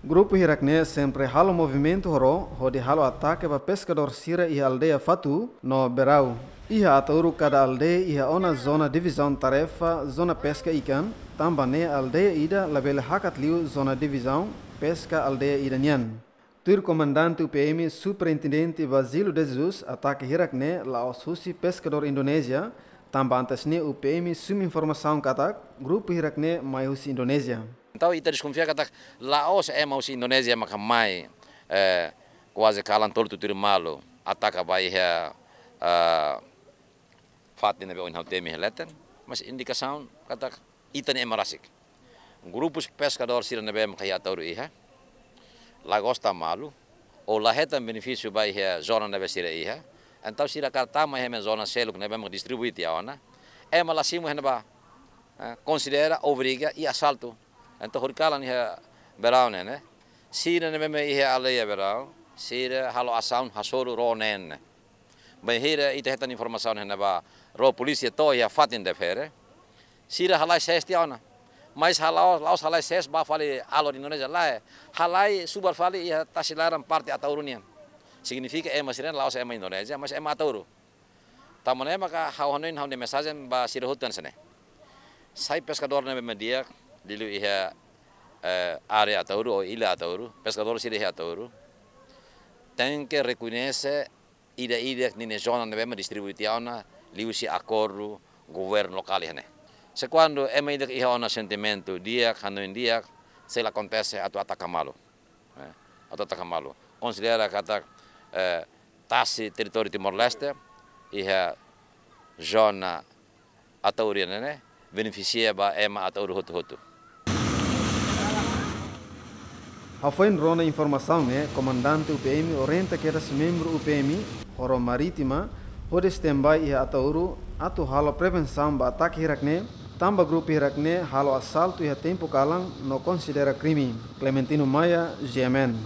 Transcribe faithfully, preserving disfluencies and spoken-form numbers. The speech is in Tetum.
Grupu hirak-ne'e sempre halo movimentu horó hodi halo atake ba peskadór sira iha aldeia Fatu no Berau. Iha Ataúru kada aldeia iha ona zona divizaun tarefa zona peska ikan, tanba ne'e aldeia ida labele hakat liu zona divizaun peska aldeia ida nian. Tuir komandante U P M Superintendente Basílio de Jesus, atake hirak-ne'e la'ós husi peskadór Indonézia, tanba antes ne'e U P M sumi informasaun katak grupu hirak-ne'e mai husi Indonézia. Entaun, ita deskonfia katak la'ós ema husi Indonézia maka mai, eh, kuaze kalan tolu tutuir malu, ataka ba iha, eh, fatin ne'ebé ohin ha'u temi iha leten, mas indikasaun katak ita-nia ema rasik. Grupus peskadór sira ne'ebé maka iha Ataúru iha, la gosta malu, ou la hetan benefísiu ba iha zona ne'ebé sira iha. Entaun sira kaer tama iha ema zona seluk ne'ebé maka distribui tiha ona. Ema la simu iha ne'ebá, eh, konsidera, obriga i asaltu. Entaun horikalan iha Berau ne'e, ne'e. Sira ne'ebé iha aldeia Berau, sira halo asaun hasoru ró neen ne'e. Bainhira ita hetan informasaun iha ne'ebá, ró polísia to'o iha fatin Defere. Sira halai sees tiha ona. Mas halai, la'ós halai sees ba fali alor Indonézia lae. Halai subar fali iha tasi laran parte Ataúru nian. Signifika ema sira la'ós ema Indonézia, mas ema Ataúru. Tanba ne'e maka ha'u hanoin ha'u-nia mensajen ba sira hotu hanesan ne'e. Sai peskadór ne'ebé mak di'ak, liuliu iha, eh, área Ataúru ou illa Ataúru, peskadór sira iha Ataúru. Tenke rekoñese ida-idak ninia zona ne'ebé mak distribui tiha ona liuhusi akordu governu lokál iha ne'e. Se kuandu ema ida iha ona sentimentu di'ak, hanoin di'ak, sei la akontese atu ataka malu. Eh, atu ataka malu. Konsidera katak, eh, tasi territóriu Timor-Leste, iha zona Ataúru nian ne'e, benefisia ba ema Ataúru hotu-hotu. Hafoin rona informasaun ne'e, komandante U P M orienta kedas membru U P M, horo marítima, hodi standby iha Ataúru, atu halo prevensaun ba atake hirak-ne'e, tanba grupu hirak-ne'e halo asaltu iha tempu kalan no konsidera krime. Clementino Maia, G M N.